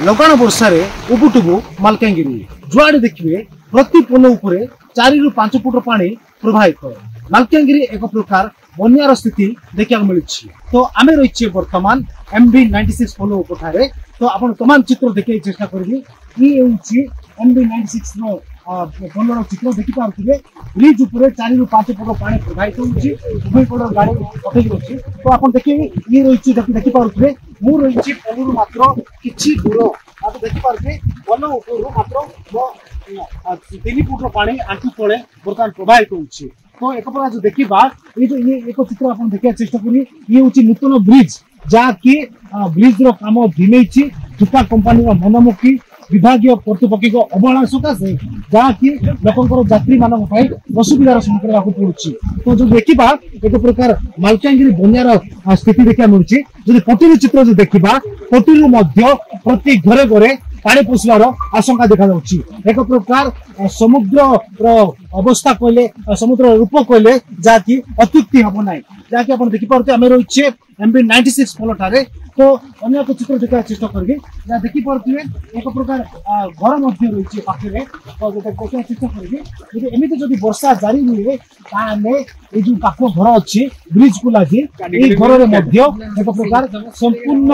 ଲଗାଣ ବର୍ଷାରେ ଉବୁଟୁବୁ ମାଲକାନଗିରି। ଯୁଆଡେ ଦେଖିବେ ପ୍ରତି ପୋଲ ଉପରେ 4ରୁ 5 ଫୁଟ ପାଣି ପ୍ରବାହିତ। ମାଲକାନଗିରି ଏକ ପ୍ରକାର ବନ୍ୟାର ସ୍ଥିତି ଦେଖିବାକୁ ମିଳୁଛି। ତ ଆମେ ରହିଛେ ବର୍ତ୍ତମାନ ଏମଭି 96 ପୋଲ ଉପରଠାରେ। ତ ଆପଣ ତମାମ ଚିତ୍ର ଦେଖିବାକୁ ଚେଷ୍ଟା କରିବି। ଇଏ ହେଉଛି ଏମଭି 96 ର ପୋଲର ଚିତ୍ର। ଦେଖିପାରୁଥିବେ ବ୍ରିଜ ଉପରେ 4ରୁ 5 ଫୁଟ ପାଣି ପ୍ରବାହିତ ହେଉଛି, ଉଭୟ ପଟର ଗାଡି ଅଟକି ଅଛି। ତ ଆପଣ ଦେଖିବେ ଇଏ ରହିଛି, ଦେଖିପାରୁଥିବେ ମୁଁ ରହିଛି ପୋଲରୁ ମାତ୍ର କିଛି ଦୂର। ଆପଣ ଦେଖିପାରୁଥିବେ ପୋଲ ଉପରୁ ମାତ୍ର 3 ଫୁଟର ପାଣି ଆଣ୍ଠୁ ତଳେ ବର୍ତ୍ତମାନ ପ୍ରବାହିତ ହେଉଛି। ତ ଏକ ପ୍ରକାର ଯୋଉ ଦେଖିବା ଏଇ ଯୋଉ ଇଏ ଏକ ଚିତ୍ର ଆପଣ ଦେଖିବାକୁ ଚେଷ୍ଟା କରିବେ, ଇଏ ହେଉଛି ନୂତନ ବ୍ରିଜ, ଯାହାକି ବ୍ରିଜ ର କାମ ଧିମେଇଛି ଠିକା କମ୍ପାନୀର ମନମୁଖୀ ବିଭାଗୀୟ କର୍ତ୍ତୃପକ୍ଷଙ୍କ ଅବହେଳା ସକାଶେ, ଯାହାକି ଲୋକଙ୍କର ଯାତ୍ରୀ ମାନଙ୍କ ପାଇଁ ଅସୁବିଧାର ସମ୍ମୁଖୀନ ହେବାକୁ ପଡୁଛି। ତ ଯଦି ଦେଖିବା ଏକ ପ୍ରକାର ମାଲକାନଗିରି ବନ୍ୟାର ସ୍ଥିତି ଦେଖିବାକୁ ମିଳୁଛି। ଯଦି ପଟିରୁ ଚିତ୍ର ଯଦି ଦେଖିବା, ପଟିରୁ ମଧ୍ୟ ପ୍ରତି ଘରେ ଘରେ ପାଣି ପଶିବାର ଆଶଙ୍କା ଦେଖାଯାଉଛି। ଏକ ପ୍ରକାର ସମୁଦ୍ରର ଅବସ୍ଥା କହିଲେ, ସମୁଦ୍ରର ରୂପ କହିଲେ ଯାହାକି ଅତ୍ୟୁକ୍ତି ହେବ ନାହିଁ। ଯାହାକି ଆପଣ ଦେଖିପାରୁଥିବେ ଆମେ ରହିଛେ ଏମଭି 96 ପୋଲଠାରେ। ତ ଅନ୍ୟ ଏକ ଚିତ୍ର ଦେଖିବାକୁ ଚେଷ୍ଟା କରିବି, ଯାହା ଦେଖିପାରୁଥିବେ ଏକ ପ୍ରକାର ଘର ମଧ୍ୟ ରହିଛି ପାଖରେ। ତ ଦେଖିବାକୁ ଚେଷ୍ଟା କରିବି, ଯଦି ଏମିତି ଯଦି ବର୍ଷା ଜାରି ରୁହେ ତାହେଲେ ଏଇ ଯୋଉ ପାଖ ଘର ଅଛି ବ୍ରିଜକୁ ଲାଗି, ଏଇ ଘରରେ ମଧ୍ୟ ଏକ ପ୍ରକାର ସମ୍ପୂର୍ଣ୍ଣ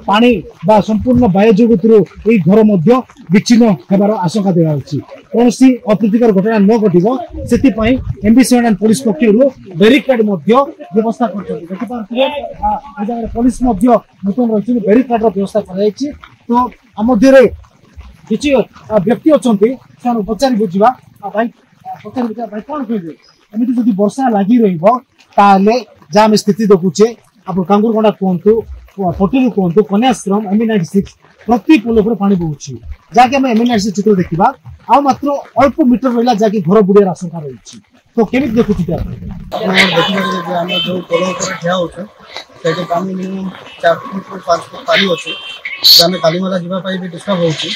ପାଣି ବା ସମ୍ପୂର୍ଣ୍ଣ ବାୟୁ ଜଗତରୁ ଏଇ ଘର ମଧ୍ୟ ବିଚ୍ଛିନ୍ନ ହେବାର ଆଶଙ୍କା ଦିଆଯାଉଛି। କୌଣସି ଅପ୍ରୀତିକର ଘଟଣା ନ ଘଟିବ ସେଥିପାଇଁ ଏମଭି 79 ପୋଲିସ ପକ୍ଷରୁ ବ୍ୟାରିକେଡ ମଧ୍ୟ ବ୍ୟବସ୍ଥା କରିଛନ୍ତି। ଦେଖିପାରୁଥିବେ ଏ ଜାଗାରେ ପୋଲିସ ମଧ୍ୟ ନୂତନ ରହିଛନ୍ତି, ବ୍ୟାରିକେଡର ବ୍ୟବସ୍ଥା କରାଯାଇଛି। ତ ଆମ ମଧ୍ୟରେ କିଛି ବ୍ୟକ୍ତି ଅଛନ୍ତି, ସେମାନଙ୍କୁ ପଚାରି ବୁଝିବା। ଭାଇ, ପଚାରି ବୁଝିବା, ଭାଇ କଣ କହିବେ? ଏମିତି ଯଦି ବର୍ଷା ଲାଗି ରହିବ ତାହେଲେ ଯାହା ଆମେ ସ୍ଥିତି ଦେଖୁଛେ, ଆପଣ କାଙ୍ଗୁରଗଣ୍ଡା କୁହନ୍ତୁ, ପଟିରୁ କୁହନ୍ତୁ, କନ୍ୟାଶ୍ରମ, ଏମଭି 96 ପ୍ରତି ପୋଲ ଉପରେ ପାଣି ବହୁଛି। ଯାହାକି ଆମେ ଏମଭି 96 ଚିତ୍ର ଦେଖିବା, ଆଉ ମାତ୍ର ଅଳ୍ପ ମିଟର ରହିଲା ଯାହାକି ଘର ବୁଡ଼ିବାର ଆଶଙ୍କା ରହିଛି। ତ କେମିତି ଦେଖୁଛନ୍ତି ଆପଣ? ଆପଣ ଦେଖିପାରିବେ ଯେ ଆମେ ଯୋଉ ପୋଲ ଉପରେ ଠିଆ ହଉଛୁ ସେଠି ପାଣି ମିନିମମ୍ 4 ଫୁଟରୁ 5 ଫୁଟ ପାଣି ଅଛି। ଯେ ଆମେ କାଲିମେଲା ଯିବା ପାଇଁ ବି ଡିଷ୍ଟର୍ବ ହଉଛି।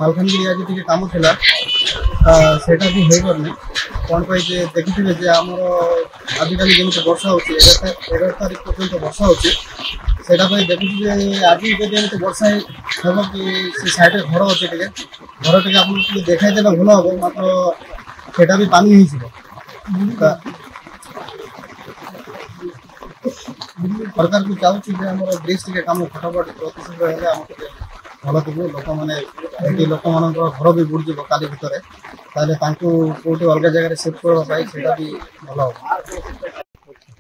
ମାଲକାନଗିରି ଆଜି ଟିକେ କାମ ଥିଲା, ସେଇଟା ବି ହେଇପାରୁନି। କ'ଣ ପାଇଁ ଯେ ଦେଖିଥିବେ ଯେ ଆମର ଆଜିକାଲି ଯେମିତି ବର୍ଷା ହଉଛି, 11 ତାରିଖ ପର୍ଯ୍ୟନ୍ତ ବର୍ଷା ହଉଛି, ସେଇଟା ପାଇଁ ଦେଖୁଛୁ ଯେ ଆଜି ଯଦି ଏମିତି ବର୍ଷା ହେବ କି ସେ ସାଇଡ଼ରେ ଘର ଅଛି, ଟିକେ ଘର ଟିକେ ଆପଣଙ୍କୁ ଟିକେ ଦେଖାଇ ଦେଲେ ଭଲ ହବ, ମାତ୍ର ସେଇଟା ବି ପାଣି ହେଇଯିବ। ସରକାରକୁ ଚାହୁଁଛି ଯେ ଆମର ବ୍ରିଜ ଟିକେ କାମ ଫଟାଫଟ ଅତିଶୀଘ୍ର ହେଲେ ଆମକୁ ଟିକେ ଭଲ ଥିବ। ଲୋକମାନେ ଏଠି ଲୋକମାନଙ୍କର ଘର ବି ବୁଡ଼ିଯିବ କାଲି ଭିତରେ, ତାହେଲେ ତାଙ୍କୁ କୋଉଠି ଅଲଗା ଜାଗାରେ ସିଫ୍ଟ କରିବା ପାଇଁ ସେଇଟା ବି ଭଲ ହବ।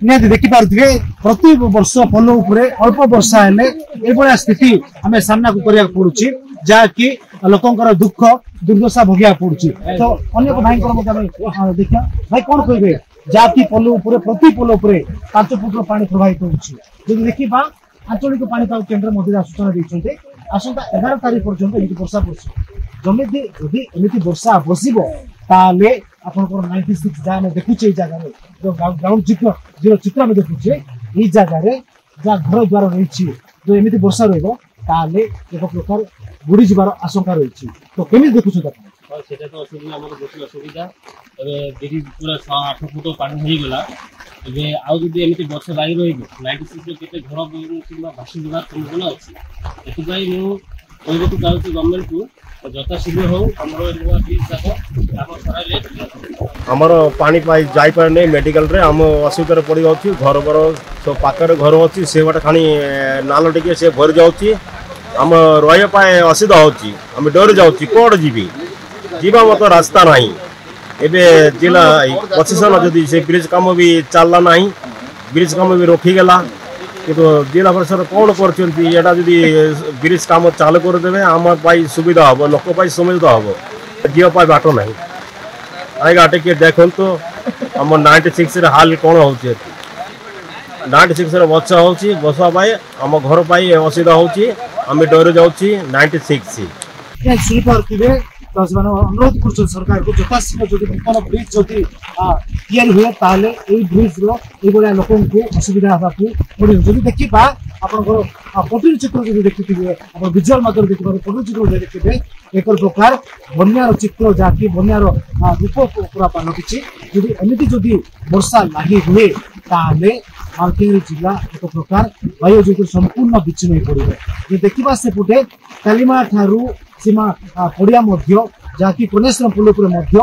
ନିହାତି ଦେଖିପାରୁଥିବେ ପ୍ରତି ବର୍ଷ ପୋଲ ଉପରେ ଅଳ୍ପ ବର୍ଷା ହେଲେ ଏଇଭଳିଆ ସ୍ଥିତି ଆମେ ସାମ୍ନାକୁ କରିବାକୁ ପଡୁଛି, ଯାହାକି ଲୋକଙ୍କର ଦୁଃଖ ଦୁର୍ଦ୍ଦଶା ଭୋଗିବାକୁ ପଡୁଛି। ତ ଅନେକ ଭାଇଙ୍କର ମଧ୍ୟ ଆମେ ଦେଖିବା। ଭାଇ କଣ କହିବେ? ଯାହାକି ପୋଲ ଉପରେ ପ୍ରତି ପୋଲ ଉପରେ 5 ଫୁଟର ପାଣି ପ୍ରବାହିତ ହେଉଛି। ଯଦି ଦେଖିବା ଆଞ୍ଚଳିକ ପାଣିପାଗ କେନ୍ଦ୍ର ମଧ୍ୟ ସୂଚନା ଦେଇଛନ୍ତି ଆସନ୍ତା 11 ତାରିଖ ପର୍ଯ୍ୟନ୍ତ ଏମିତି ବର୍ଷା ବର୍ଷିବ। ଯଦି ଏମିତି ବର୍ଷା ବର୍ଷିବ ତାହେଲେ ଆପଣଙ୍କର 96 ଯାହା ଆମେ ଦେଖୁଛେ ଏଇ ଜାଗାରେ ଯୋଉ ଗ୍ରାଉଣ୍ଡ ଚିତ୍ର ଯୋଉ ଚିତ୍ର ଆମେ ଦେଖୁଛେ ଏଇ ଜାଗାରେ ଯାହା ଘର ଦ୍ୱାର ରହିଛି, ଯୋଉ ଏମିତି ବର୍ଷା ରହିବ ତାହେଲେ ଏକ ପ୍ରକାର ବୁଡ଼ିଯିବାର ଆଶଙ୍କା ରହିଛି। ତ କେମିତି ଦେଖୁଛନ୍ତି ଆପଣ? ହଁ, ସେଇଟା ତ ଅସୁବିଧା, ଆମର ବେଶୀ ଅସୁବିଧା। ଏବେ ବ୍ରିଜ ପୁରା 8 ଫୁଟ ପାଣି ହେଇଗଲା। ଏବେ ଆଉ ଯଦି ଏମିତି ବର୍ଷା ଲାଗି ରହିବ 96ର କେତେ ଘର କିମ୍ବା ଭାସିଯିବାର ସମ୍ଭାବନା ଅଛି। ସେଥିପାଇଁ ମୁଁ କହିବାକୁ ଚାହୁଁଛି ଗଭର୍ଣ୍ଣମେଣ୍ଟକୁ ଯଥାଶୀଘ୍ର ହଉ ଆମର ନୂଆ ବ୍ରିଜ ଯାକ କାମ ସରାଇଲେ ଆମର ପାଣି ପାଇ ଯାଇପାରୁନି ମେଡିକାଲରେ, ଆମ ଅସୁବିଧାରେ ପଡ଼ିଯାଉଛି। ଘର ଘର ସବୁ ପାଖରେ ଘର ଅଛି, ସେ ବାଟ ଖାଲି ନାଲ ଟିକେ ସେ ଭରି ଯାଉଛି। ଆମ ରହିବା ପାଇଁ ଅସୁବିଧା ହେଉଛି, ଆମେ ଡରି ଯାଉଛି, କୁଆଡ଼େ ଯିବି, ଯିବା ମତ ରାସ୍ତା ନାହିଁ। ଏବେ ଜିଲ୍ଲା ପ୍ରଶାସନ ଯଦି ସେ ବ୍ରିଜ କାମ ବି ଚାଲିଲା ନାହିଁ, ବ୍ରିଜ କାମ ବି ରଖିଗଲା, କିନ୍ତୁ ଜିଲ୍ଲା ପରିଷଦ କ'ଣ କରୁଛନ୍ତି? ଏଇଟା ଯଦି ବ୍ରିଜ କାମ ଚାଲୁ କରିଦେବେ ଆମ ପାଇଁ ସୁବିଧା ହେବ, ଲୋକ ପାଇଁ ସୁବିଧା ହେବ, ଯିବା ପାଇଁ ବାଟ ନାହିଁ। ଆଜ୍ଞା ଟିକେ ଦେଖନ୍ତୁ ଆମ 96ରେ ହାଲ କ'ଣ ହେଉଛି। ଏଠି 96ରେ ବର୍ଷା ହେଉଛି, ବର୍ଷା ପାଇଁ ଆମ ଘର ପାଇଁ ଅସୁବିଧା ହେଉଛି, ଆମେ ଡରି ଯାଉଛି। 96 ଶୁଣିପାରୁଥିବେ ତ ସେମାନେ ଅନୁରୋଧ କରୁଛନ୍ତି ସରକାରକୁ ଯଥାଶୀଘ୍ର ଯଦି ନୂତନ ବ୍ରିଜ ଯଦି ତିଆରି ହୁଏ ତାହେଲେ ଏଇ ବ୍ରିଜର ଏଇଭଳିଆ ଲୋକଙ୍କୁ ଅସୁବିଧା ହେବାକୁ ପଡ଼ିବ। ଯଦି ଦେଖିବା ଆପଣଙ୍କର ପଟିର ଚିତ୍ର ଯଦି ଦେଖିଥିବେ, ଆପଣ ଭିଜୁଆଲ ମାଧ୍ୟମରେ ଦେଖିପାରିବେ, ପଟିର ଚିତ୍ର ଯଦି ଦେଖିବେ ଏକ ପ୍ରକାର ବନ୍ୟାର ଚିତ୍ର, ଯାହାକି ବନ୍ୟାର ରୂପ ପୁରା ପାଲଟିଛି। ଯଦି ଏମିତି ଯଦି ବର୍ଷା ଲାଗି ହୁଏ ତାହେଲେ ମାଲକାନଗିରି ଜିଲ୍ଲା ଏକ ପ୍ରକାର ବାହ୍ୟ ଜଗତରୁ ସମ୍ପୂର୍ଣ୍ଣ ବିଚ୍ଛିନ୍ନ ହୋଇପଡ଼ିବ। ଯଦି ଦେଖିବା ସେପଟେ କାଲିମାଳା ଠାରୁ ସୀମା ପଡ଼ିଆ ମଧ୍ୟ, ଯାହାକି କନେଶ୍ୱର ପୋଲ ଉପରେ ମଧ୍ୟ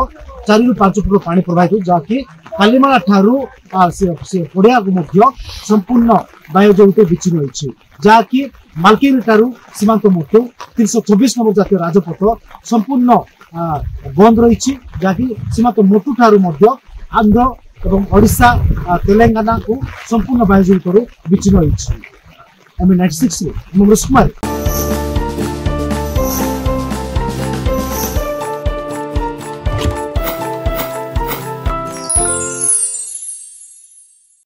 4ରୁ 5 ଫୁଟ ପାଣି ପ୍ରବାହିତ, ଯାହାକି କାଲିମାଳା ଠାରୁ ସେ ପଡ଼ିଆକୁ ମଧ୍ୟ ସମ୍ପୂର୍ଣ୍ଣ ବାହ୍ୟ ଜଗତ ବିଚ୍ଛିନ୍ନ ହୋଇଛି। ଯାହାକି ମାଲକାନଗିରି ଠାରୁ ସୀମାନ୍ତ ମୋଟୁ 324 ନମ୍ବର ଜାତୀୟ ରାଜପଥ ସମ୍ପୂର୍ଣ୍ଣ ବନ୍ଦ ରହିଛି, ଯାହାକି ସୀମାନ୍ତ ମୋଟୁ ଠାରୁ ମଧ୍ୟ ଆନ୍ଧ୍ର ଏବଂ ଓଡ଼ିଶା ତେଲେଙ୍ଗାନାକୁ ସମ୍ପୂର୍ଣ୍ଣ ବାହ୍ୟ ଜଗତରୁ ବିଚ୍ଛିନ୍ନ ହୋଇଛି। ଏମ୍ 96ରୁ ମୁଁ କୁମାର।